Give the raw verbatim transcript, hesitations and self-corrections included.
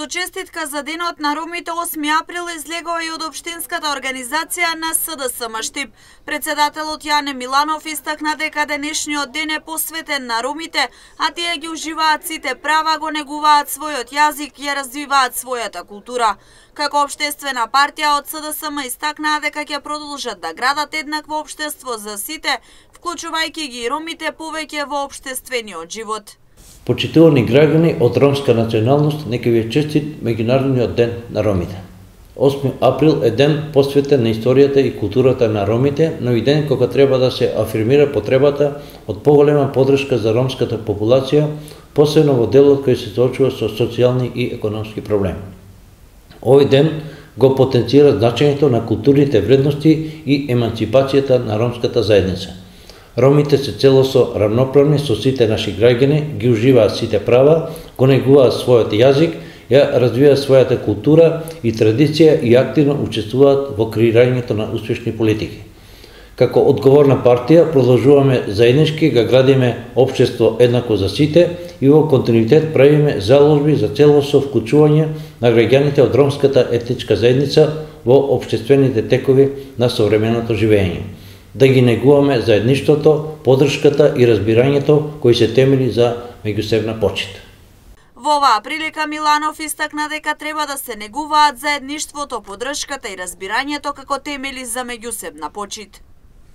Со честитка за денот на ромите осми април излегува и од општинската организација на С Д С Штип. Председателот Јане Миланов истакна дека денешниот ден е посветен на ромите, а тие ги уживаат сите права, го негуваат својот јазик и ја развиваат својата култура. Како општествена партија од С Д С М истакнаа дека ќе продолжат да градат еднакво општество за сите, вклучувајќи ги и ромите повеќе во општествениот живот. Почитувани граѓани од ромска националност, нека ви е честит меѓународниот ден на ромите. осми април е ден посветен на историјата и културата на ромите, но и ден кога треба да се афирмира потребата од поголема поддршка за ромската популација, посебно во делот кој се соочува со социјални и економски проблеми. Овој ден го потенцира значењето на културните вредности и еманципацијата на ромската заедница. Ромите се целосно равноправни со сите наши граѓани, ги уживаат сите права, го негуваат својот јазик, ја развиваат својата култура и традиција и активно учествуваат во креирањето на успешни политики. Како одговорна партија продолжуваме заеднички да градиме општество еднакво за сите и во континуитет правиме заложби за целосно вклучување на граѓаните од ромската етничка заедница во општествените текови на современото живење. Да ги негуваме заедништвото, поддршката и разбирањето кои се темели за меѓусебна почит. Во оваа прилика Миланов истакна дека треба да се негуваат заедништвото, поддршката и разбирањето како темели за меѓусебна почит.